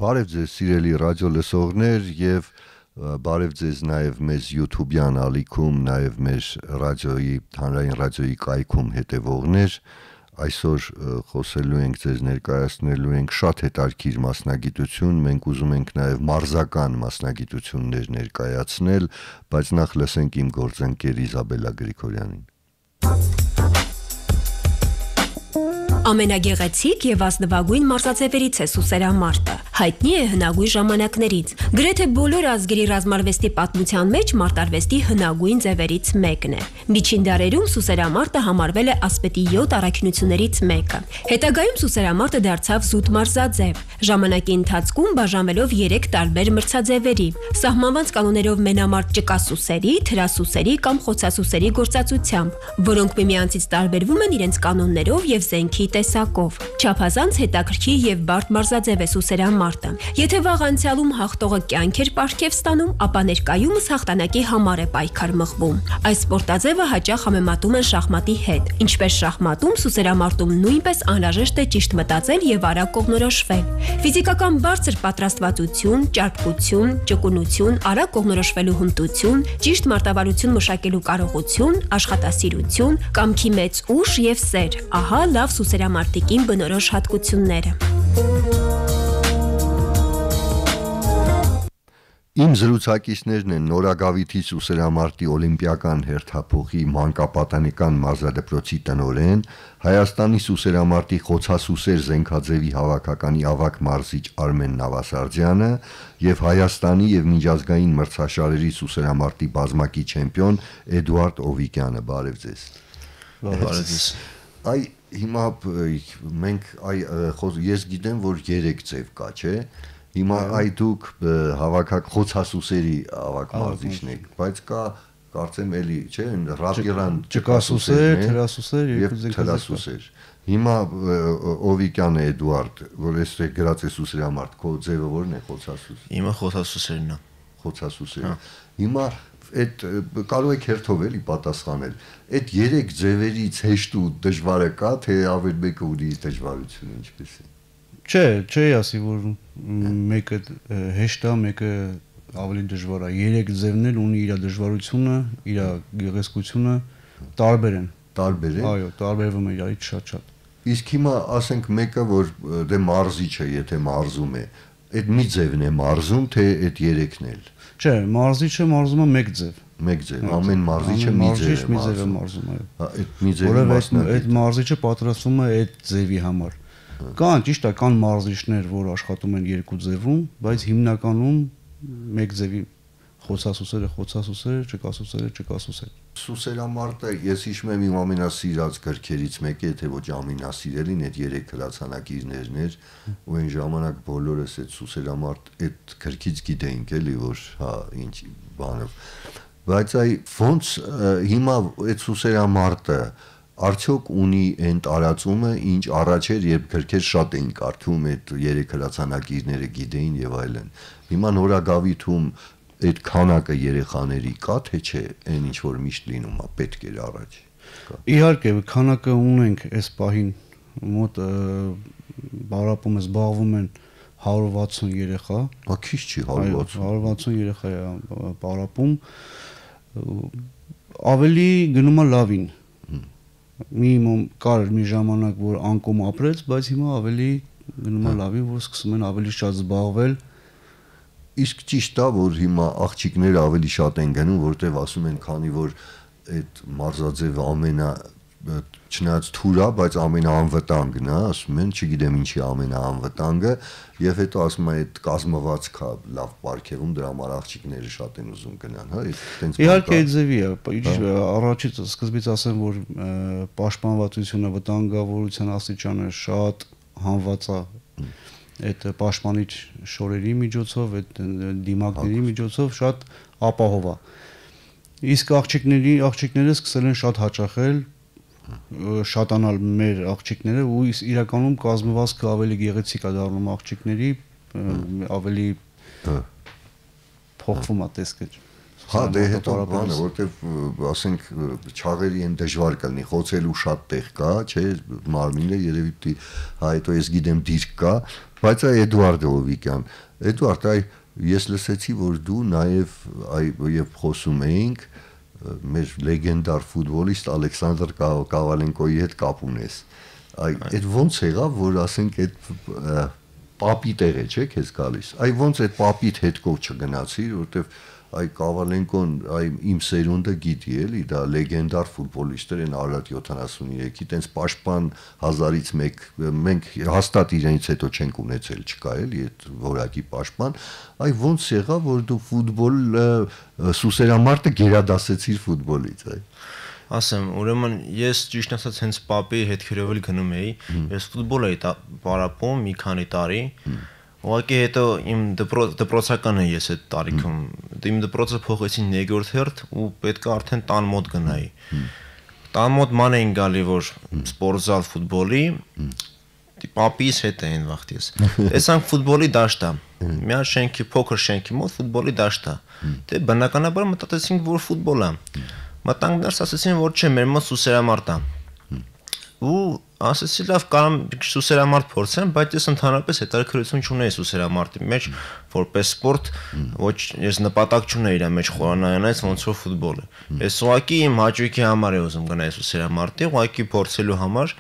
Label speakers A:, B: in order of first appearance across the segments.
A: Բարև ձեզ սիրելի ռադիո լսողներ եւ բարև ձեզ նաեւ մեզ YouTube-յան ալիքում, նաեւ մեր ռադիոյի հանրային ռադիոյի կայքում հետևողներ, այսօր խոսելու ենք ձեզ ներկայացնելու ենք շատ հետաքրքիր մասնագիտություն, մենք ուզում ենք նաեւ մարզական մասնագիտություններ ներկայացնել, բայց նախ լսենք իմ գործընկեր Իզաբելա Գրիգորյանին։
B: Ամենագեղեցիկ եւ ազնվագույն մարզաձևերից է սուսերամարտը։ Հայտնի է հնագույն ժամանակներից։ Գրեթե բոլոր ազգերի ռազմարվեստի պատմության մեջ մարտարվեստի հնագույն ձևերից մեկն է։ Միջին դարերում սուսերամարտը համարվել է ասպետի 7 առաքինություններից մեկը։ Հետագայում սուսերամարտը դարձավ զուտ մարզաձև։ Ժամանակի ընթացքում բաժանվելով 3 տարբեր մրցաձևերի՝ սահմանված կանոններով մենամարտ ճկասուսերի, թրասուսերի կամ խոցասուսերի գործածությամբ, որոնք միմյանցից տարբերվում են իրենց կանոններով եւ զենքի տեսակով։ Չափազանց հետաքրքիր եւ բարդ մարզաձև է սուսերամարտը։ Եթե վաղ անցյալում հաղթողը կյանք էր պարգև ստանում, ապա ներկայումս հաղթանակի համար է պայքար մղվում։ Այս սպորտաձևը հաճախ համեմատում են շախմատի հետ։ Ինչպես շախմատում, սուսերամարտում նույնպես անհրաժեշտ է ճիշտ մտածել եւ արագ կողմնորոշվել։ Ֆիզիկական բարձր պատրաստվածություն, ճարպկություն, ճկունություն, արագ կողմնորոշվելու հմտություն, ճիշտ մարտավարություն մշակելու կարողություն, աշխատասիրություն, կամքի մեծ ուժ եւ սեր։ Ահա լավ սուսերամարտիկին բնորոշ հատկությունները։
A: Իմ զրուցակիցներն են Նորագավիթի սուսերամարտի օլիմպիական հերթափոխի մանկապատանեկան մարզադպրոցի տնօրեն, Հայաստանի սուսերամարտի խոցասուսեր զենքաձևի հավաքականի ավագ մարզիչ Արմեն Նավասարդյանը եւ Հայաստանի եւ միջազգային մրցաշարերի սուսերամարտի բազմակի չեմպիոն Էդուարդ Օվիկյանը։ Բարև ձեզ։
C: Բարև ձեզ։
A: Այ հիմա մենք ես գիտեմ, որ 3 ձև կա, չէ՞։ Հիմա այ դուք խոցասուսերի ավագ մարզիչն եք, բայց կա կարծեմ էլի, չէ՞, ռապիրան
C: ճկասուսեր, թրասուսեր
A: եւ թրասուսեր։ Հիմա Օվիկյանը Էդուարդ, որ էստեղ գրած է սուսերամարտ, քո ձևը ո՞րն է խոցասուս։
C: Հիմա խոցասուսերն է։
A: Խոցասուսերը։ Հիմա այդ կարող եք հերթով էլի պատասխանել։ Այդ 3 ձևերից հեշտ ու դժվարը կա, թե ավելի մեկը ունի դժվարություն, ինչպես է։
C: Չէ, ասի որ մեկը հեշտ է, մեկը ավելի դժվար է։ 3 ձևն էլ ունի իր դժվարությունը, իր գեղեցկությունը, տարբեր են։
A: Տարբեր են։
C: Այո, տարբերվում է իրարից շատ։
A: Իսկ հիմա ասենք մեկը, որ դե մարզիչ է, եթե մարզում է, այդ մի ձևն է մարզում, թե այդ 3-ն էլ։
C: Չէ, մարզիչը մարզում է մեկ ձև։
A: Մեկ ձև, ամեն մարզիչը մի ձև
C: է մարզում, այո։
A: Այդ մի ձևը մասնակից։
C: Այդ մարզիչը պատրաստվում է այդ ձևի համար։ Կան, ճիշտ է, կան մարզիչներ, որ աշխատում են 2 ձևում, բայց հիմնականում մեկ ձևի խոցասուսերը, ճկասուսերը։
A: Սուսերամարտը ես հիշում եմ իմ ամենասիրած գրքերից մեկը, եթե ոչ ամենասիրելին, այդ 3 հրացանակիրներն էր, ու այն ժամանակ բոլորս այդ սուսերամարտ այդ գրքից գիտեինք էլի, որ հա ինչ բանով։ Բայց այ ոնց հիմա այդ սուսերամարտը արդյոք ունի այն տարածումը, ինչ առաջ էր, երբ գրքեր շատ էին կարդում, այդ 3 հրացանակիրները գիտեին եւ այլն։ Հիմա Նորագավիթում այդ քանակը երեխաների կա, թե չէ, այն ինչ որ միշտ լինում է, պետք էր առաջ։
C: Իհարկե, քանակը ունենք այս պահին, մոտ բարապում զբաղվում են 160 երեխա։
A: Ա քիչ չի 160։
C: 160 երեխա է բարապում։ Ավելի գնում է լավին։ Մինիմում կար մի ժամանակ, որ անկում ապրեց, բայց հիմա ավելի գնում է լավի, որ սկսում են ավելի շատ զբաղվել։
A: Իսկ ճիշտ է, որ հիմա աղջիկները ավելի շատ են գնում, որտեվ ասում են, քանի որ այդ մարզաձևը չնայած թույլ է, բայց ամենաանվտանգն է, ասում են, չգիտեմ ինչի ամենաանվտանգը, եւ հետո ասում են այդ կազմվածքա լավ պարգևում, դրա համար աղջիկները շատ են ուզում գնան, հա, այդտենց։
C: Իհարկե ձևի է, առաջից սկզբից ասեմ, որ պաշտպանվածությունը, վտանգավորության աստիճանը շատ հանված է այդ պաշտպանիչ շորերի միջոցով, այդ դիմակների միջոցով շատ ապահով է։ Իսկ աղջիկները սկսել են շատ հաճախել, շատանալ մեր աղջիկները, ու իրականում կազմվածքը ավելի գեղեցիկ է դառնում աղջիկների, ավելի փոխվում է տեսքը,
A: Հա, դե հետո բանը, որտեվ ասենք չաղերի են դժվար կլինի, խոցելու շատ տեղ կա, չէ, մարմինը երևի պիտի, հա, հետո ես գիտեմ դիրք կա, բայց այ Էդուարդ Հովիկյան, Էդուարդ, այ ես լսեցի, որ դու նաև եւ խոսում էինք մեր լեգենդար ֆուտբոլիստ Ալեքսանդր Կավալենկոյի հետ կապ ունես։ Այդ ոնց եղավ, որ ասենք այդ պապի տեղ է, չէ՞, քեզ գալիս։ Այ ոնց այդ պապիդ հետ կով չգնացիր, որտեվ այ Կավալենկոն, այ իմ սերունդը գիտի էլի, դա լեգենդար ֆուտբոլիստ էր, այն Արարատ 73-ի, տենց պաշտպան 1000-ից 1, մենք հաստատ իրենից հետո չենք ունեցել, չկա էլի այդ որակի պաշտպան, այ ոնց եղավ, որ դու ֆուտբոլ սուսերամարտը գերադասեցիր ֆուտբոլից, այ
D: ասեմ, ուրեմն ես ճիշտ ասած հենց պապի հետքերով էլ գնում էի, ես ֆուտբոլ էի պարապում մի քանի տարի, ուղղակի հետո իմ դպրոցական եմ ես այդ տարիքում, իմ դպրոցը փոխեցին 2-րդ հերթ ու պետք է արդեն տան մոտ գնայի։ Տան մոտ ման էին գալի, որ սպորտզալ ֆուտբոլի, պապիս հետ էին վախտես։ Տեսանք ֆուտբոլի դաշտա, մի շենքի, փոքր շենքի մոտ ֆուտբոլի դաշտա։ Դե բնականաբար մտածեցինք, որ ֆուտբոլ է։ Մտանք ներս, ասեցին, որ չէ, մեր մոտ սուսերամարտ է։ Ու ասեցի, լավ, կարամ սուսերամարտ փորձեմ, բայց ես ընդհանրապես հետաքրքրություն չունեի սուսերամարտի մեջ, որպես սպորտ, ոչ ես նպատակ չունեի իր մեջ խորանայանից ոնց որ ֆուտբոլը։ Ես ուղղակի իմ հաճույքի համար եմ ուզում գնալ սուսերամարտի, ուղղակի փորձելու համար,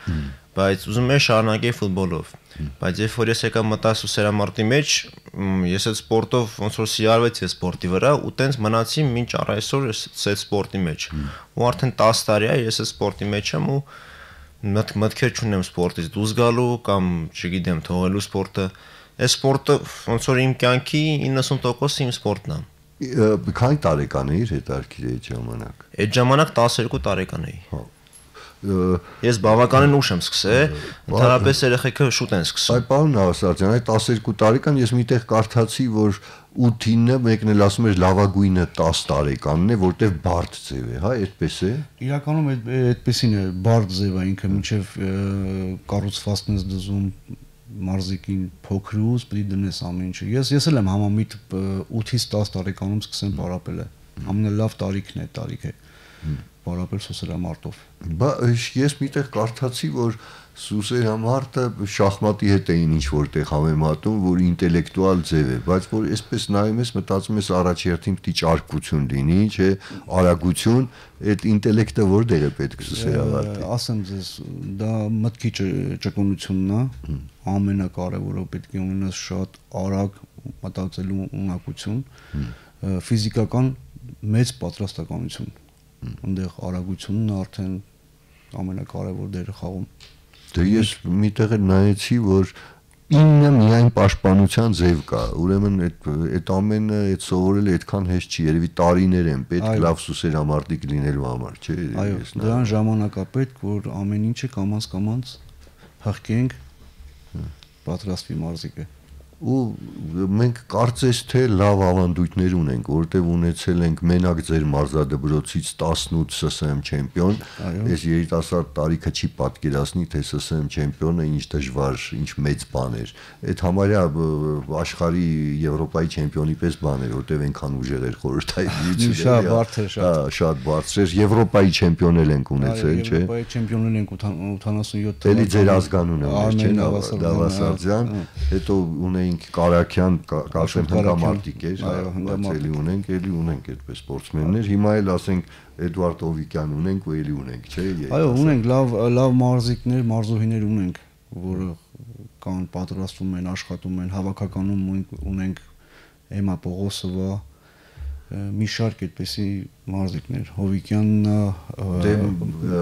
D: բայց ուզում եմ շարունակել ֆուտբոլով։ Բայց երբ որ ես եկա մտա սուսերամարտի մեջ, ես այդ սպորտով ոնց որ սիրավեցի այդ սպորտի վրա ու տենց մնացի մինչ առայսօր այդ սպորտի մեջ։ Ու արդեն 10 տարի է ես այդ սպորտի մեջ եմ ու մտքեր չունեմ սպորտից դուրս գալու կամ չգիտեմ թողելու սպորտը։ Այս սպորտը ոնց որ իմ կյանքի 90% իմ սպորտն է։
A: Քանի տարեկան էիր հետարքիր այդ ժամանակ։
D: Այդ ժամանակ 12 տարեկան էի։ Ես բավականին ուշ եմ սկսել, ընդհանրապես երեխեքը շուտ են սկսում։
A: Այ պարոն Նավասարդյան, այդ 12 տարեկան ես միտեղ կարդացի, որ 8-ը մեկն էլ ասում էր լավագույնը 10 տարեկանն է, որտեվ բարդ ձև է, հա, այդպես է։
C: Իրականում այդպեսին է, բարդ ձև է ինքը, մինչև կառուցվածքն ես դզում մարզիկին փոքրուց պիտի դնես ամեն ինչը։ Ես էլ եմ համամիտ 8-ից 10 տարեկանում սկսեմ պարապել է։ Ամենալավ տարիքն է, տարիք է։ Պարապել սուսերամարտով։
A: Ես միտեղ կարդացի, որ սուսերամարտը շախմատի հետ էին ինչ որտեղ համեմատում, որ ինտելեկտուալ ձև է, բայց որ այսպես նայում ես, մտածում ես առաջերտին պիտի ճարպկություն լինի, չէ, արագություն, այդ ինտելեկտը որտեղ է պետք սուսերամարտի։
C: Ասեմ ձեզ, դա մտքի ճկունությունն է, ամենակարևորը պետք է ունենաս շատ արագ մտածելու ունակություն, ֆիզիկական մեծ պատրաստականություն։ Այնտեղ արագությունն արդեն ամենակարևոր դերը խաղում։
A: Դե ես միտեղ նայեցի, որ 9 միայն պաշտպանության ձև կա։ Ուրեմն այդ ամենը այդ սովորելը այդքան հեշտ չի, երևի տարիներ են պետք լավ սուսերամարտիկ լինելու համար, չէ՞։
C: Այո, դրան ժամանակ է պետք, որ ամեն ինչը կամաց հղկենք, պատրաստվի մարզիկը։
A: Ու մենք կարծես թե լավ ավանդույթներ ունենք, որտեղ ունեցել ենք մենակ ձեր մարզադպրոցից 18 ՍՍՄ չեմպիոն, այս երիտասարդ տարիքը չի պատկերացնի, թե ՍՍՄ չեմպիոնը ինչ դժվար, ինչ մեծ բան էր։ Այդ համարյա աշխարհի Եվրոպայի չեմպիոնի պես բան էր, որտեղ այնքան ուժեղ էր խորհրդային միությունը։
C: Շատ բարդ էր,
A: շատ բարձր էր։ Եվրոպայի չեմպիոն էլ ենք ունեցել, չէ՞։
C: Եվրոպայի չեմպիոն էլ ենք 87
A: Էլի ձեր ազգանունը մեր, չէ՞, Նավասարդյան, հետո ունեինք Կարաքյան, Կաշեմ հնգամարտիկ էր, էլի ունենք այդպես սպորտսմեններ, հիմա էլ ասենք Էդուարդ Հովիկյան ունենք ու էլի ունենք, չէ՞։
C: Այո, ունենք լավ մարզիկներ, մարզուհիներ ունենք, որը կան պատրաստվում են, աշխատում են, հավաքականում ունենք Էմա Պողոսովա, մի շարք այդպեսի մարզիկներ, Հովիկյանն,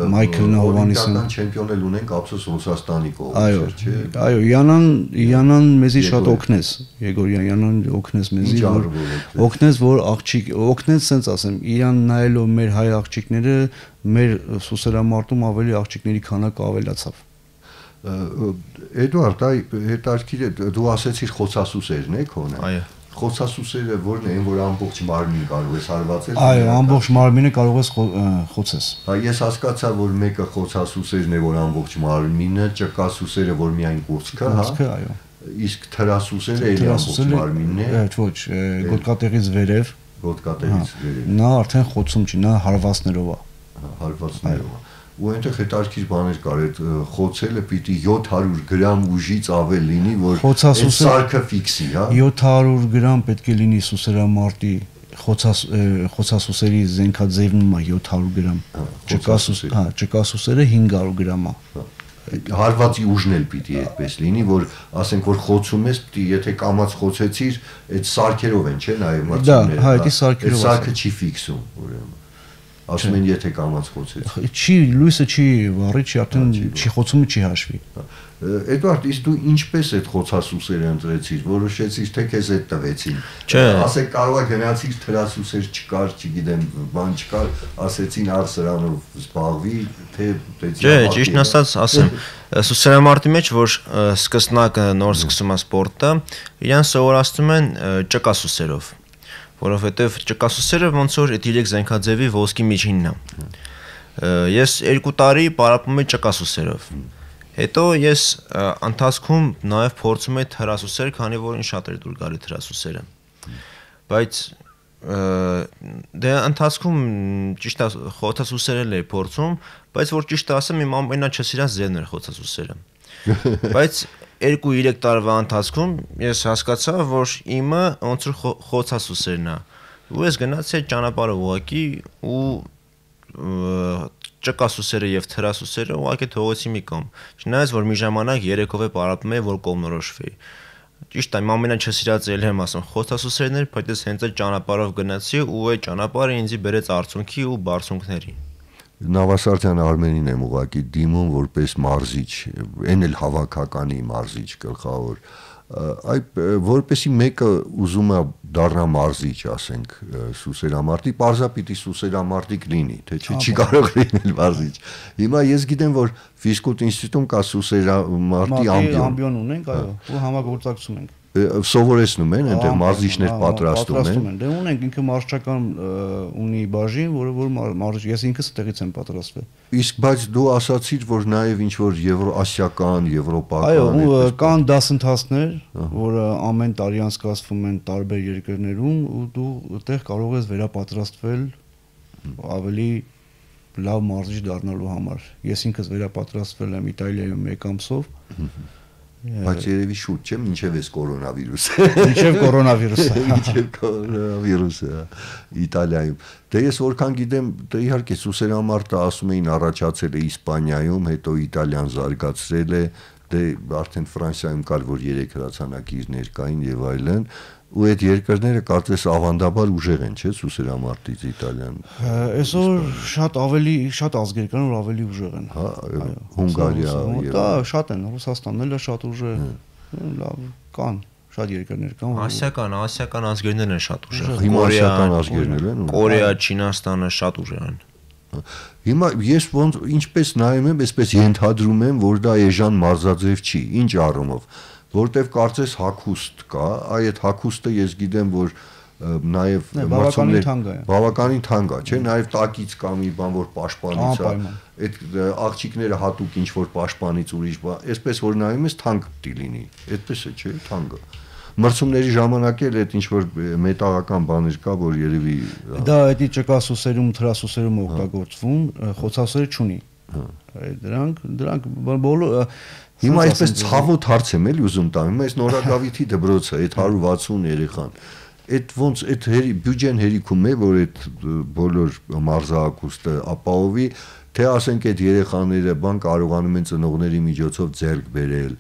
C: Մայքլն, Հովանեսյանը
A: չեմպիոն էլ ունենք, ափսոս Ռուսաստանի կողմից, չէ՞։
C: Այո, Յանան մեզի շատ օգնեց, Եգորյան Յանան օգնեց մեզի, օգնեց, որ աղջիկ, օգնեց, սենց ասեմ, իրան նայելով մեր հայ աղջիկները, մեր սուսերամարտում ավելի աղջիկների քանակը ավելացավ։
A: Էդուարդ, հետաքրքիր է, դու ասեցիր խոցասուսերն է քոնը։
D: Այո։
A: Խոցասուսերը որն են, որ ամբողջ մարմին կարող ես հարվածել։
C: Այո, ամբողջ մարմինը կարող ես խոցես։
A: Ես հասկացա, որ մեկը խոցասուսերն է, որ ամբողջ մարմինը, ճկասուսերը, որ միայն կուրծքը, հա։
C: Կուրծքը, այո։
A: Իսկ թրասուսերը էլի ամբողջ մարմինն է։
C: Ոչ, գոտկատեղից վերև,
A: Գոտկատերից վերել։
C: Նա արդեն խոցում չի, նա հարվածներով է։
A: Հարվածներով։ Ու այնտեղ հետարքիր բաներ կար, այդ խոցելը պիտի 700 գրամ ուժից ավել լինի, որ այդ սարքը ֆիքսի, հա։
C: 700 գրամ պետք է լինի սուսերամարտի խոցասուսերի զենքաձևնումը 700 գրամ։ Ճկասուսերը 500 գրամ է։
A: Հարվածի ուժն էլ պիտի այդպես լինի, որ ասենք որ խոցում ես, պիտի եթե կամած խոցեցիր, այդ սարքերով են, չէ՞, նաեւ մարտիկները։
C: Դա, այդ սարքերով։
A: Այդ սարքը չի ֆիքսում, ուրեմն։ Ասում են եթե կամած խոցեցի։
C: Չի, լույսը չի վառի, չի արդեն չի խոցումը չի հաշվի։
A: Էդվարդ, իսկ դու ինչպես այդ խոցասուսերը ընտրեցիր, որոշեցիր թե քեզ այդ տվեցին։ Ասեք կարող է գնացիր թրասուսեր չկար, չգիտեմ, բան չկար, ասեցին ար սրանով զբաղվի, թե
D: Չէ, ճիշտն ասած, ասեմ, սուսերամարտի մեջ որ սկսնակը նոր սկսում է սպորտը, իրան սովորացնում են ճկասուսերով, որովհետև ճկասուսերը ոնց որ այդ 3 զենքաձևի ոսկի միջինն է։ Ես 2 տարի պարապում եմ ճկասուսերով։ Հետո ես ընթացքում նաև փորձում եմ թրասուսեր, քանի որ ինձ շատ էր դուր գալի թրասուսերը։ Բայց դե ընթացքում ճիշտ է խոցասուսերել էի փորձում, բայց որ ճիշտ ասեմ, իմ ամենաչսիրած ձևն էր խոցասուսերը։ Բայց 2-3 տարվա ընթացքում ես հասկացա, որ իմը ոնց որ խոցասուսերն է։ Ու ես գնացի այդ ճանապարհը ուղակի ու ճկասուսերը եւ թրասուսերը ուղղակի թողեցի մի կողմ։ Չնայած որ մի ժամանակ երեքով է պարապում էի, որ կողմնորոշվեի։ Ճիշտ է, իմ ամենաչսիրած էլ եմ ասում, խոցասուսերն էր, բայց ես հենց այդ ճանապարհով գնացի ու այդ ճանապարհը ինձ բերեց արցունքի ու բարձունքների։
A: Նավասարդյան Արմենին եմ ուղակի դիմում որպես մարզիչ, այն էլ հավաքականի մարզիչ գլխավոր։ Այդ որպեսի մեկը ուզում է դառնա մարզիչ, ասենք, սուսերամարտի, պարզապիտի սուսերամարտիկ լինի, թե չի կարող լինել մարզիչ։ Հիմա ես գիտեմ, որ ֆիզկուլտ ինստիտուտում կա սուսերամարտի ամբիոն
C: ունենք, այո, ու համագործակցում ենք։
A: Սովորեցնում են, այնտեղ մարզիչներ պատրաստում են։
C: Դե ունենք, ինքը մարզչական ունի բաժին, որը մարզիչ, ես ինքս այդտեղից եմ պատրաստվել։
A: Իսկ բայց դու ասացիր, որ նաև ինչ որ եվրոասիական, եվրոպական։
C: Այո, կան դասընթացներ, որը ամեն տարի անցկացվում են տարբեր երկրներում ու դու այդտեղ կարող ես վերապատրաստվել ավելի լավ մարզիչ դառնալու համար։ Ես ինքս վերապատրաստվել եմ Իտալիայում 1 ամսով։
A: Բայց երևի շուտ չէ, մինչև էս կորոնավիրուսը։
C: Մինչև կորոնավիրուսը։
A: Մինչև կորոնավիրուսը Իտալիայում։ Դե ես որքան գիտեմ, դե իհարկե սուսերամարտը ասում էին առաջացել է Իսպանիայում, հետո Իտալիան զարգացրել է, դե արդեն Ֆրանսիայում կար որ 3 հրացանակիրներ կային եւ այլն, ու այդ երկրները կարծես ավանդաբար ուժեղ են, չէ՞, սուսերամարտից Իտալիան։
C: Այսօր շատ ազգեր կան, որ ավելի ուժեղ են։
A: Հա, Հունգարիա եւ
C: դա շատ են, Ռուսաստանն էլ է շատ ուժեղ, լավ կան, շատ երկրներ կան։
D: Ասիական ազգերներն են շատ ուժեղ։
A: Հիմա ասիական ազգերներ են։
D: Կորեա, Չինաստանը շատ ուժեղ են։
A: Հիմա ես ոնց ինչպես նայում եմ, այսպես ենթադրում եմ, որ դա էժան մարզաձև չի, ինչ առումով, որտեվ կարծես հագուստ կա, այդ հագուստը ես գիտեմ, որ նաև բավականին թանկ է, չէ՞, նաև տակից կա մի բան, որ պաշտպանից է, այդ աղջիկները հատուկ ինչ որ պաշտպանից ուրիշ բան, այսպես որ նայում ես թանկ պիտի լինի, այդպես է, չէ՞, թանկը։ Մրցումների ժամանակ էլ այդ ինչ որ մետաղական բաներ կա, որ երևի
C: դա այդի ճկասուսերում, թրասուսերում օգտագործվում, խոցասուսերը չունի։ Դրանք բոլոր
A: հիմա այսպես ցավոտ հարց եմ էլի ուզում տամ, հիմա այս Նորագավիթի դպրոցը, այդ 160 երեխան, այդ ոնց այդ բյուջեն հերիքում է, որ այդ բոլոր մարզահագուստը ապահովի, թե ասենք այդ երեխաները բան կարողանում են ծնողների միջոցով ձեռք բերել,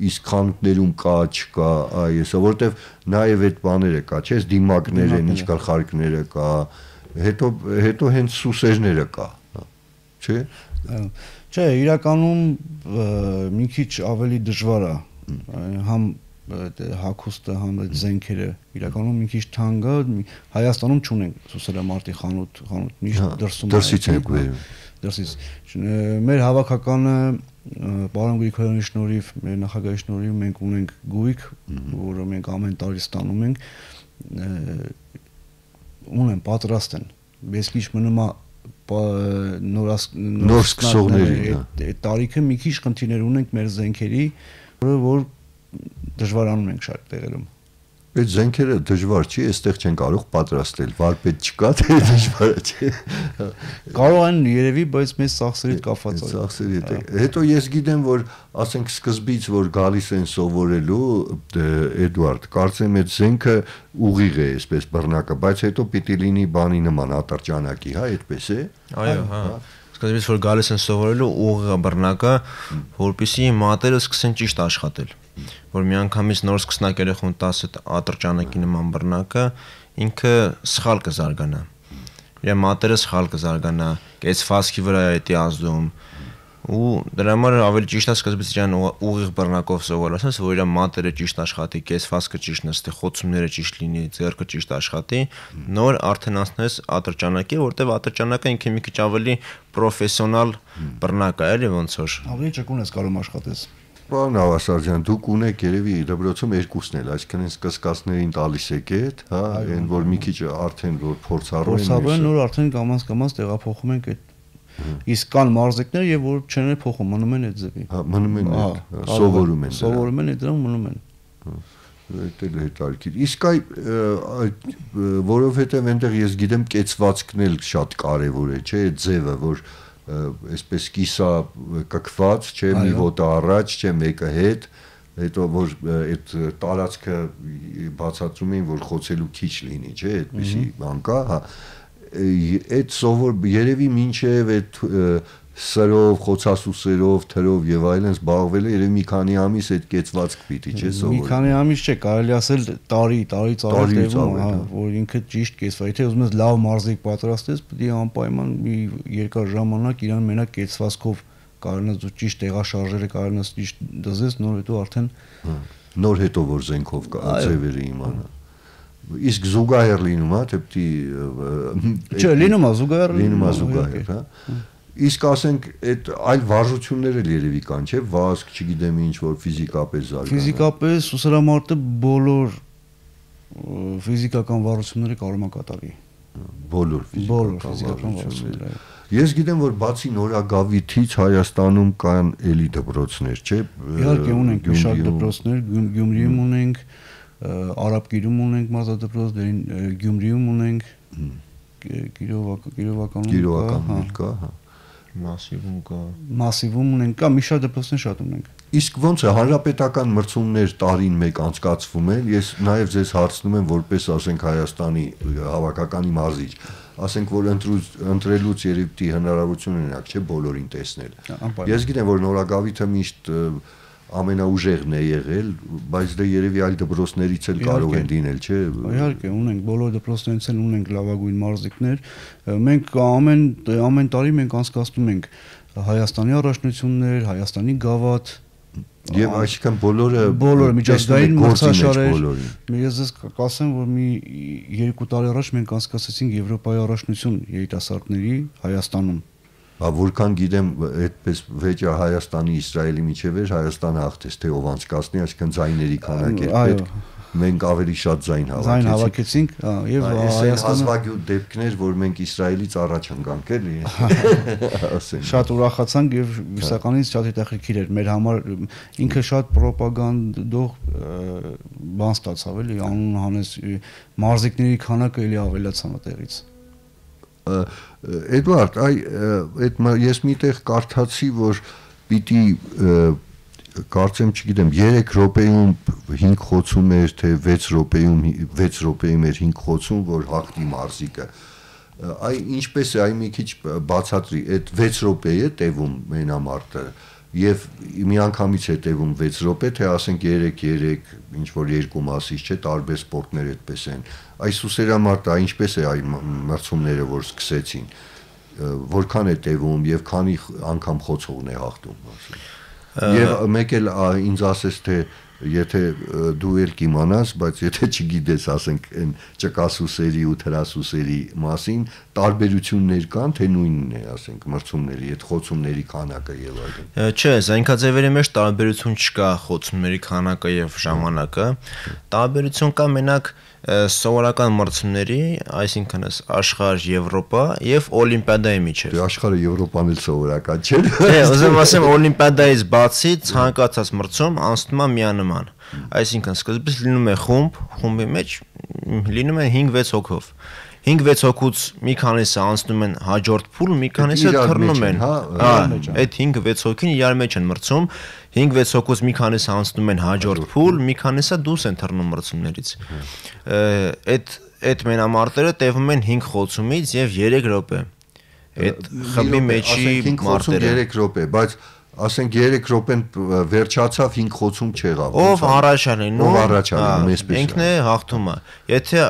A: իսկ խանութներում կա, չկա, այսա, որտեվ նաև այդ բաները կա, չէ՞, դիմակներ են, ինչ գլխարկները կա, հետո հենց սուսերները կա, չէ՞։
C: Չէ, իրականում մի քիչ ավելի դժվար է, համ հագուստը, համ այդ զենքերը, իրականում մի քիչ թանկ է, Հայաստանում չունենք սուսերամարտի խանութ, միշտ
A: դրսից ենք բերում։
C: Դրսից։ Մեր հավաքականը պարոն Գրիգորյանի շնորհիվ, մեր նախագահի շնորհիվ մենք ունենք գույք, որը մենք ամեն տարի ստանում ենք, ունեն պատրաստ են։ Ես քիչ մնում է նոր
A: սկսողների
C: տարիքը մի քիչ խնդիրներ ունենք մեր զենքերի, որ դժվարանում ենք շատ տեղերում։
A: Այդ զենքերը դժվար չի, այստեղ չեն կարող պատրաստել, վարպետ չկա, թե դժվար է։
C: Կարող են երևի, բայց մեծ ծախսերի կապված է։
A: Ծախսերի հետ։ Հետո ես գիտեմ, որ ասենք սկզբից որ գալիս են սովորելու, Էդուարդ, կարծեմ այդ զենքը ուղիղ է, այսպես բռնակը, բայց հետո պիտի լինի բանի նման ատրճանակի, հա, այդպես է։
D: Այո, հա։ Սկզբից որ գալիս են սովորելու ուղիղ բռնակը, որպեսզի մատերը սկսեն ճիշտ աշխատել։ Որ միանգամից նոր սկսնակ երեխուն տաս այդ ատրճանակի նման բռնակը ինքը սխալ կզարգանա։ Իր մատերը սխալ կզարգանա, կեցվածքի վրա է դա ազդում։ Ու դրա համար ավելի ճիշտ է սկզբից իրան ուղիղ բռնակով սովորել, ասես որ իր մատերը ճիշտ աշխատի, կեցվածքը ճիշտ նստի, խոցումները ճիշտ լինի, ձեռքը ճիշտ աշխատի, նոր արդեն անցնես ատրճանակի, որտեղ ատրճանակը ինքը մի քիչ ավելի պրոֆեսիոնալ բռնակ է, էլի ոնց որ։
C: Ավելի ճկուն ես կարող աշխատես։
A: Պարոն Ավասարյան, դուք ունեք երևի դպրոցում երկուսն էլ, այսինքն այս կսկածներին տալիս եք այդ, հա, այն որ մի քիչ արդեն որ փորձառու են։
C: Փորձառու են, նոր արդեն կամաց տեղափոխում ենք այդ իսկ կան մարզիկներ եւ որ չեն փոխում, մնում են այդ ձևի։
A: Հա, մնում են այդ, սովորում են։
C: Սովորում են այդ դրան մնում են։
A: Դա հետարքիր։ Իսկ որովհետեւ այնտեղ ես գիտեմ կեցվածքն էլ շատ կարեւոր է, չէ՞, այդ ձևը, որ այսպես կիսա կկված, չէ, մի ոտը առաջ, չէ, մեկը հետ, հետո որ այդ տարածքը բացատրում էին, որ խոցելու քիչ լինի, չէ, այդպեսի բան կա, հա, այդ սովոր երևի մինչև այդ սրով, խոցասուսերով, թրով եւ այլն զբաղվել է երևի մի քանի ամիս այդ կեցվածք պիտի, չէ, սովոր։
C: Մի քանի ամիս չէ, կարելի ասել տարի ծավալ, հա, որ ինքը ճիշտ կեցվա։ Եթե ուզում ես լավ մարզիկ պատրաստես, պետք է անպայման մի երկար ժամանակ իրան մենակ կեցվածքով կարողանաս դու ճիշտ տեղաշարժերը կարողանաս ճիշտ դզես, նոր հետո արդեն
A: նոր հետո որ զենքով կա ձևերը իմանա։ Իսկ զուգահեռ լինում է, թե պիտի
C: Չէ, լինում է
A: զուգահեռ, հա։ Իսկ ասենք այդ այլ վարժություններ էլ երևի կան, չէ՞, վազք, չգիտեմ ինչ որ ֆիզիկապես զարգանա։
C: Ֆիզիկապես ուսերամարտը բոլոր ֆիզիկական վարժությունները կարող է կատարի։
A: Բոլոր
C: ֆիզիկական վարժությունները։
A: Ես գիտեմ, որ բացի Նորագավիթից Հայաստանում կան էլի դպրոցներ, չէ՞։
C: Իհարկե ունենք մի շարք դպրոցներ, Գյումրիում ունենք, Արաբկիրում ունենք մարզադպրոց, Գյումրիում ունենք, Կիրովականում
A: կա, հա։
C: Մասիվում ունենք, կա մի շարք դպրոցներ շատ ունենք։
A: Իսկ ոնց է հանրապետական մրցումներ տարին մեկ անցկացվում են, ես նաև ձեզ հարցնում եմ որպես ասենք Հայաստանի հավաքականի մարզիչ, ասենք որ ընտրելուց երևի հնարավորություն ունենաք, չէ, բոլորին տեսնել։ Ես գիտեմ որ Նորագավիթը միշտ ամենաուժեղն է եղել, բայց դե երևի այլ դպրոցներից էլ կարող են լինել, չէ։
C: Իհարկե, ունենք բոլոր դպրոցներից էլ ունենք լավագույն մարզիկներ։ Մենք ամեն տարի մենք անցկացնում ենք Հայաստանի առաջնություններ, Հայաստանի գավաթ,
A: եւ այսինքն բոլորը
C: միջազգային մրցաշարեր։ Ես ձեզ կասեմ, որ մի 2 տարի առաջ մենք անցկացրեցինք Եվրոպայի առաջնություն երիտասարդների Հայաստանում։
A: Որքան գիտեմ, այդպես վեճը Հայաստանի Իսրայելի միջև էր, Հայաստանը հաղթեց, թե ով անցկացնի, այսինքն ձայների քանակ էր պետք։ Մենք ավելի շատ ձայն
C: հավաքեցինք, եւ
A: Հայաստանը հազվագյուտ դեպքներ, որ մենք Իսրայելից առաջ ընկանք, էլի։
C: Շատ ուրախացանք եւ իսկականից շատ հետաքրքիր էր մեր համար, ինքը շատ ռոպագանդող բան ստացավ, էլի, անուն հանես մարզիկների քանակը էլի ավելացավ այդտեղից։
A: Էդուարդ, այդ ես միտեղ կարդացի, որ պիտի կարծեմ, չգիտեմ, 3 րոպեում 5 խոցում էր, թե 6 րոպեում էր 5 խոցում, որ հաղթի մարզիկը։ Ինչպես է, մի քիչ բացատրի, այդ 6 րոպե է տևում մենամարտը եւ միանգամից է տևում 6 րոպե, թե ասենք 3 ինչ որ երկու մասից չէ, տարբեր սպորտներ այդպես են։ Այս ուսերամարտը ինչպես է այն մրցումները, որ սկսեցին, որքան է տևում եւ քանի անգամ խոցողն է հաղթում, ասենք։ Եվ մեկ էլ ինձ ասես թե եթե դու էլ կիմանաս, բայց եթե չգիտես, ասենք այն ճկասուսերի ու թրասուսերի մասին, տարբերություններ կան, թե նույնն է, ասենք, մրցումների, այդ խոցումների քանակը եւ այլն։
D: Չէ, զենքաձևերի մեջ տարբերություն չկա խոցումների քանակը եւ ժամանակը։ Տարբերություն կա մենակ սովորական մրցումների, այսինքն աշխարհ, Եվրոպա եւ Օլիմպիադայի միջեւ։
A: Դե աշխարհը Եվրոպան էլ սովորական չէ։
D: Դե ուզում ասեմ Օլիմպիադայից բացի ցանկացած մրցում անցնում է միանման։ Այսինքն սկզբից լինում է խումբի մեջ լինում են 5-6 հոգով 5-6 հոգուց մի քանիսը անցնում են հաջորդ փուլ, մի քանիսը թռնում են։ Այդ 5-6 հոգին իրար մեջ են մրցում, 5-6 հոգուց մի քանիսը անցնում են հաջորդ փուլ, մի քանիսը դուրս են թռնում մրցումներից։ Այդ մենամարտերը տևում են 5 խոցումից եւ 3 րոպե։ Այդ խմբի մեջի մարտերը
A: 3 րոպե, բայց ասենք 3 րոպեն վերջացավ 5 խոցում չեղավ։
D: Ով առաջանին,
A: ով առաջանում, այսպես։
D: Ինքն է հաղթումը։ Եթե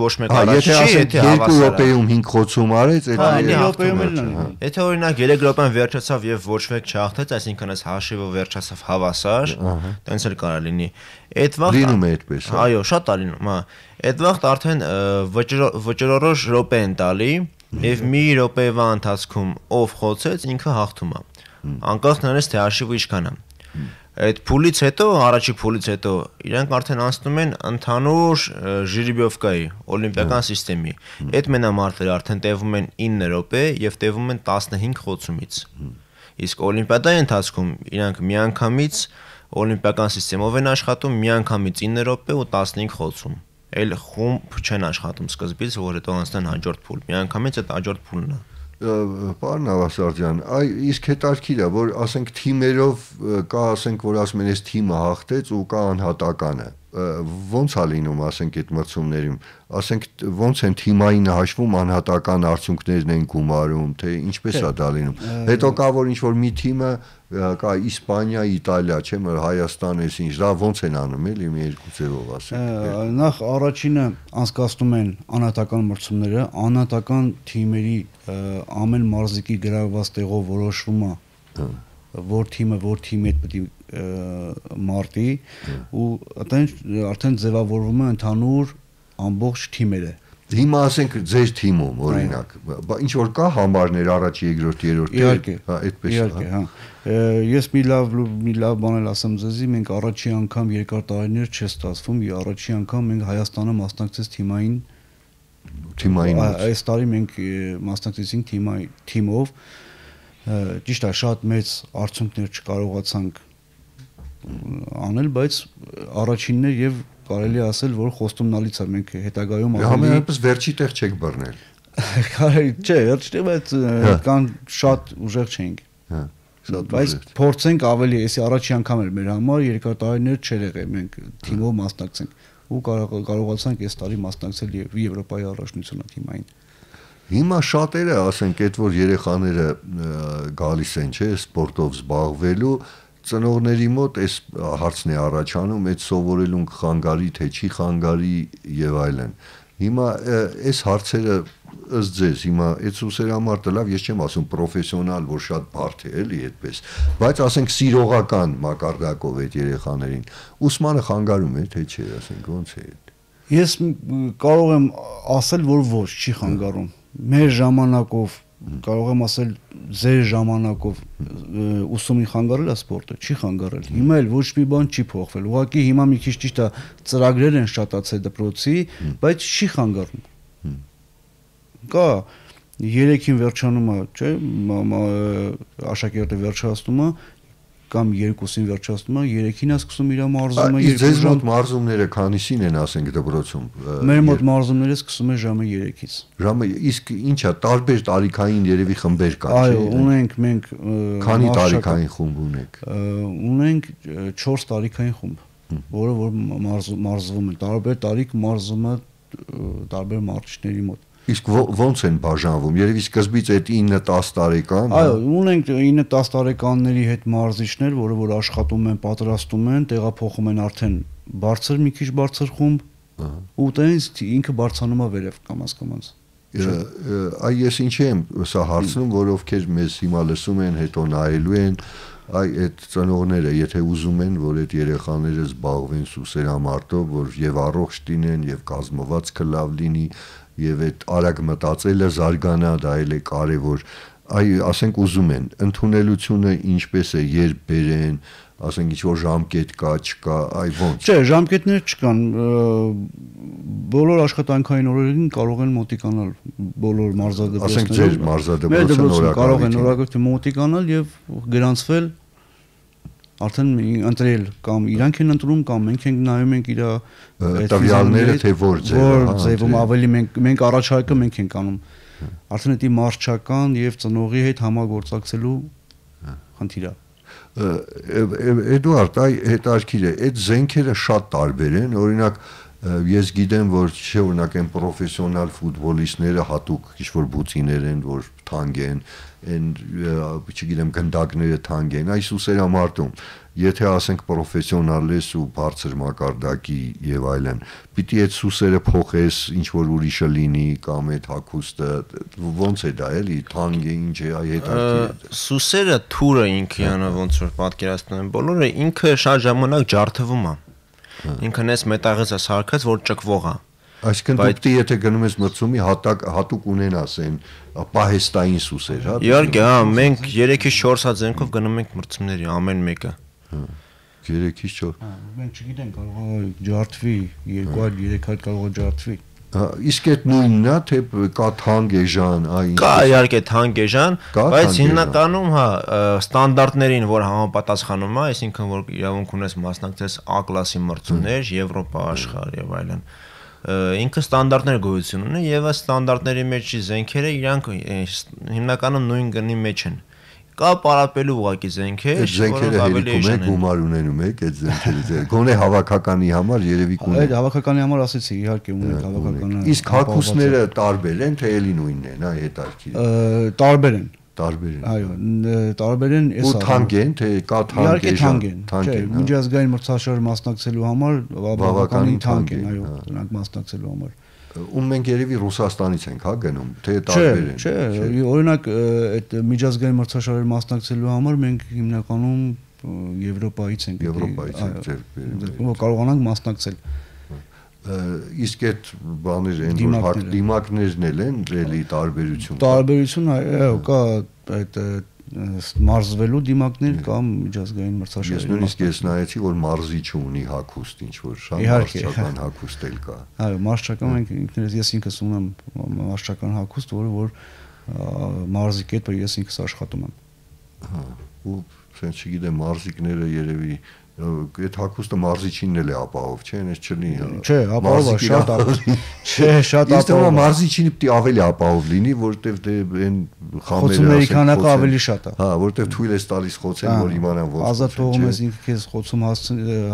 D: ոչ մեկ առաջ չի, եթե
A: 2 րոպեում 5 խոցում արեց,
C: այդ 2 րոպեում էլ նույնն։
D: Եթե օրինակ 3 րոպեն վերջացավ եւ ոչ մեկ չհաղթեց, այսինքն այս հաշիվը վերջացավ հավասար, տենց էլ կարող լինի։ Այդ վաղ
A: լինում է այդպես։
D: Այո, շատ է լինում, հա։ Այդ վաղ արդեն վճռորոշ րոպե են տալի եւ մի րոպեվա ընթացքում ով խոցեց, ինքը հաղթում է։ Անկախ նրանից թե հաշիվը ինչքան է։ Այդ փուլից հետո, առաջի փուլից հետո իրանք արդեն անցնում են ընդհանուր ժիրիբյովկայի, օլիմպիական համակարգի։ Այդ մենամարտերը արդեն տևում են 9 րոպե եւ տևում են 15 խոցումից։ Իսկ օլիմպիադայի ընթացքում իրանք միանգամից օլիմպիական համակարգով են աշխատում միանգամից 9 րոպե ու 15 խոցում։ Այլ խումբ չեն աշխատում սկզբից, որ հետո անցնեն հաջորդ փուլ։ Միանգամից այդ հաջորդ փուլն է։
A: Պարոն Ավասարդյան, իսկ հետաքրքիր է, որ ասենք թիմերով կա, ասենք, որ ասում են, այս թիմը հաղթեց ու կա անհատականը։ Ոնց է լինում, ասենք, այդ մրցումներում, ասենք, ոնց են թիմային հաշվում անհատական արդյունքներն են գումարում, թե ինչպես է դա լինում։ Հետո կա, որ ինչ-որ մի թիմը կա Իսպանիա, Իտալիա, չէ՞, Հայաստան, այս ինչ, դա ոնց են անում, էլի մի երկու ձևով ասենք։
C: Նախ առաջինը անցկացնում են անհատական մրցումները, անհատական թիմերի ամեն մարզիկի գրաված տեղով որոշվում է որ թիմը որ թիմի հետ պետք է մարտի ու արդեն ձևավորվում է ընդհանուր ամբողջ թիմերը։
A: Հիմա ասենք ձեր թիմում օրինակ, ինչ որ կա համարներ առաջ, երկրորդ, երրորդ, հա, այդպես է,
C: հա։ Ես մի լավ բան էլ ասեմ ձեզի, մենք առաջի անգամ երկար տարիներ չէ ստացվում, առաջի անգամ մենք Հայաստանը մասնակցեց թիմային այս տարի մենք մասնակցեցինք թիմով, ճիշտ է, շատ մեծ արդյունքներ չկարողացանք անել, բայց առաջինն է եւ կարելի է ասել, որ խոստումնալից է, մենք հետագայում
A: համենայնպես վերջի տեղ չեք բռնել։
C: Կարելի չէ, վերջի, բայց կան շատ ուժեղ չենք։
A: Հա,
C: բայց փորձենք ավելի, էսի առաջի անգամ էր մեր համար, երկար տարիներ չէր եղել, մենք թիմով մասնակցենք ու կարողացանք այս տարի մասնակցել Եվրոպայի առաջնությունը թիմային։
A: Հիմա շատերը, ասենք, այդ որ երեխաները գալիս են, չէ, սպորտով զբաղվելու, ծնողների մոտ այս հարցն է առաջանում, այդ սովորելուն կխանգարի, թե չի խանգարի եւ այլն։ Հիմա այս հարցերը ըստ ձեզ, հիմա այդ սուսերամարտը լավ, ես չեմ ասում պրոֆեսիոնալ, որ շատ բարդ է, էլի այդպես, բայց ասենք սիրողական մակարդակով այդ երեխաներին, ուսմանը խանգարում է, թե չէ, ասենք, ոնց է։
C: Ես կարող եմ ասել, որ ոչ, չի խանգարում։ Մեր ժամանակով կարող եմ ասել ձեր ժամանակով ուսումին խանգարել է սպորտը, չի խանգարել։ Հիմա էլ ոչ մի բան չի փոխվել։ Ուղղակի հիմա մի քիչ ճիշտ է ծրագրեր են շատացել դպրոցի, բայց չի խանգարում։ Կա 3-ին վերջանում է, չէ՞, աշակերտը վերջացնում է, կամ 2-ին վերջացնում է, 3-ին է սկսում իր մարզումը, 2
A: ժամ։ Ձեզ մոտ մարզումները քանիսին են, ասենք, դպրոցում։
C: Մեր մոտ մարզումները սկսում է ժամը 3-ից։
A: Ժամը, իսկ ինչա, տարբեր տարիքային երևի խմբեր կան, չէ՞։
C: Այո, ունենք մենք
A: քանի տարիքային խումբ ունեք։
C: Ունենք 4 տարիքային խումբ, որը որ մարզվում են, տարբեր տարիք մարզումը տարբեր մարզիչների մոտ։
A: Իսկ ոնց են բաժանվում։ Երևի սկզբից այդ 9-10 տարեկան։
C: Այո, ունենք 9-10 տարեկանների հետ մարզիչներ, որը որ աշխատում են, պատրաստում են, տեղափոխում են արդեն բարձր, մի քիչ բարձր խումբ, ու տենց ինքը բարձանում է վերև կամաց։
A: Այ ես ինչի եմ սա հարցնում, որ ովքեր մեզ հիմա լսում են, հետո նայելու են, այդ ծնողները, եթե ուզում են, որ այդ երեխաները զբաղվեն սուսերամարտով, որ եւ առողջ լինեն, եւ կազմվածքը լավ լինի, եւ այդ արագ մտածելը զարգանա, դա էլ է կարեւոր։ Ասենք ուզում են, ընդունելությունը ինչպես է, երբ բերեն, ասենք ինչ-որ ժամկետ կա, չկա, ոնց։
C: Չէ, ժամկետներ չկան։ Բոլոր աշխատանքային օրերին կարող են մոտիկանալ բոլոր մարզադպրոցները։
A: Ասենք ձեր մարզադպրոցը նորակալություն
C: կարող են նորակալություն մոտիկանալ եւ գրանցվել արդեն ընտրել կամ իրանք են ընտրում կամ մենք ենք նայում ենք իր
A: տվյալները թե որ
C: ձևում ավելի մենք առաջարկը մենք ենք անում արդեն դա մարշչական եւ ծնողի հետ համագործակցելու խնդիր է
A: Էդուարդ այ հետարքիր է այդ զենքերը շատ տարբեր են օրինակ ես գիտեմ որ չէ օրինակ են պրոֆեսիոնալ ֆուտբոլիստները հատուկ ինչ-որ բուծիներ են որ թանկ են են չգիտեմ գնդակները թանկ են այս ուսերամարտում եթե ասենք պրոֆեսիոնալ ես ու բարձր մակարդակի եւ այլն պիտի այդ սուսերը փոխես ինչ որ ուրիշը լինի կամ այդ հագուստը ոնց է դա էլի թանկ է ինչ է այ հետարքի
D: սուսերը թուրը ինքն ոնց որ պատկերացնում են բոլորը ինքը շատ ժամանակ ջարդվում է ինքն էս մետաղից է սարքած որ ճկվող է
A: Այսինքն դու պիտի եթե գնում ես մրցումի հատուկ ունենաս այն պահեստային սուսեր, հա։
D: Իհարկե, հա, մենք 3-ից 4 հատ զենքով գնում ենք մրցումների ամեն մեկը։
A: 3-ից 4։
C: Մենք չգիտենք, կարող է ջարդվի, 2-3 հատ կարող է ջարդվի։
A: Իսկ այդ նույնն է, թե կա թանկ էժան, այ
D: Կա իհարկե թանկ էժան, բայց հիմնականում հա ստանդարտներին, որ համապատասխանում է, այսինքն որ իրավունք ունես մասնակցես A կլասի մրցումներ, Եվրոպա, աշխարհ եւ այլն։ Ինքը ստանդարտներ գոյություն ունի եւ այս ստանդարտների մեջ զենքերը իրանք հիմնականում նույն գնի մեջ են։ Կա պարապելու ուղակի զենքեր,
A: որոնք ավելի էժան են։ Գումար ունենում եք այդ զենքերից։ Գոնե հավաքականի համար երևի կունեն։
C: Այդ հավաքականի համար ասեցի, իհարկե ունենք հավաքականը։
A: Իսկ հագուստները տարբեր են, թե էլի նույնն են, այ հետարքի։
C: Տարբեր են։
A: Տարբեր են։
C: Այո, տարբեր են,
A: ու թանկ են, թե կա թանկ էժան։
C: Չէ, միջազգային մրցաշար մասնակցելու համար բավականին թանկ են, այո, դրանք մասնակցելու համար։
A: Ու մենք երևի Ռուսաստանից ենք, հա, գնում, թե տարբեր են։
C: Չէ, օրինակ այդ միջազգային մրցաշարեր մասնակցելու համար մենք հիմնականում Եվրոպայից ենք։
A: Եվրոպայից ենք ձեր։
C: Որ կարողանանք մասնակցել։
A: Իսկ այդ բաներ են որ դիմակներն են էլի տարբերություն։
C: Տարբերություն այո, կա այդ մարզվելու դիմակներ կամ միջազգային մրցաշարեր։
A: Ես նույնիսկ ես նայեցի որ մարզի չունի հագուստ ինչ որ շատ մարզչական հագուստ էլ կա։
C: Այո, մարզչական մենք ինքներս ես ինքս ունեմ մարզչական հագուստ, որը մարզի կետը ես ինքս աշխատում եմ։
A: Հա, ու sense չգիտեմ մարզիկները երևի այդ հագուստը մարզիչինն էլ է ապահով, չէ՞, այնպես չլինի։
C: Չէ, ապահով է, շատ ապահով։ Չէ, շատ
A: ապահով։ Իսկ մարզիչինը պիտի ավելի ապահով լինի, որովհետև դե այն
C: խոցումների քանակը ավելի շատ է։
A: Հա, որովհետև թույլ ես տալիս խոցել, որ իմանան ոնց։
C: Ազատ թողում ես ինքը քեզ խոցում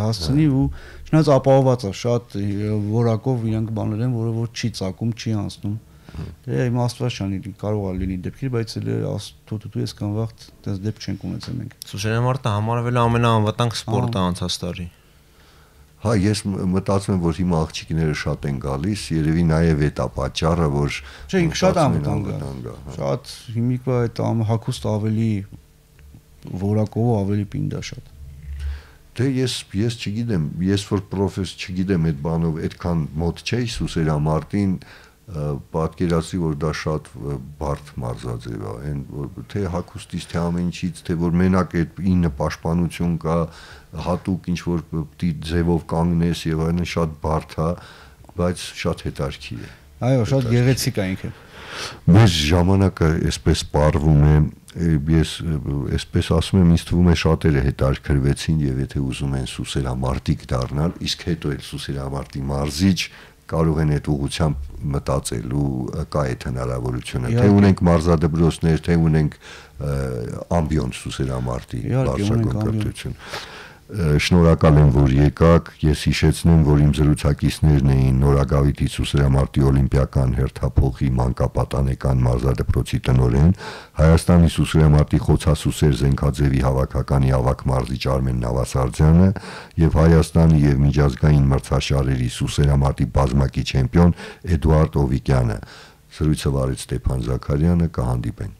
C: հասցնի ու չնայած ապահոված է, շատ որակով իրանք բաներ են, որը որ չի ծակում, չի անցնում։ Դե իմաստված չանի, կարող է լինի դեպքեր, բայց էլ թութու ես կան վաղ դες դեպք չենք ունեցել մենք։
D: Սուշերամարտը համարվել է ամենաանվտանգ սպորտը անցած տարի։
A: Հա, ես մտածում եմ, որ հիմա աղջիկները շատ են գալիս, երևի նաև այդ է պատճառը, որ
C: չէ, ինքը շատ անվտանգ է։ Շատ հիմիկվա այդ հագուստ ավելի որակով ավելի պինդ է շատ։
A: Դե ես չգիտեմ, ես որ պրոֆես չգիտեմ այդ բանով այդքան մոտ չէի սուսերամարտին պատկերացրի որ դա շատ բարդ մարզաձև է այն որ թե հագուստից թե ամեն ինչից թե որ մենակ այդ 9 պաշտպանություն կա հատուկ ինչ որ պիտի ձևով կանգնես եւ այլն շատ բարդ է բայց շատ հետարքի է
C: այո շատ գեղեցիկ է ինքը
A: մեր ժամանակը այսպես սպառվում է ես այսպես ասում եմ ինձ թվում է շատերը հետարքրվեցին եւ եթե ուզում են սուսերամարտիկ դառնալ իսկ հետո էլ սուսերամարտի մարզիչ կարող են այդ ուղղությամբ մտածել ու կա այդ հնարավորությունը թե ունենք մարզադպրոցներ թե ունենք ամբիոն սուսերամարտի բարձրագույն կրթություն շնորհակալ եմ որ եկաք ես հիշեցնեմ որ իմ զրուցակիցներն էին Նորագավիթի սուսերամարտի օլիմպիական հերթափոխի մանկապատանեկան մարզադպրոցի տնօրեն Հայաստանի սուսերամարտի խոցասուսեր զենքաձևի հավաքականի ավագ մարզիչ Արմեն Նավասարդյանը եւ Հայաստանի եւ միջազգային մրցաշարերի սուսերամարտի բազմակի չեմպիոն Էդուարդ Օվիկյանը զրույցը վարեց Ստեփան Զաքարյանը կհանդիպենք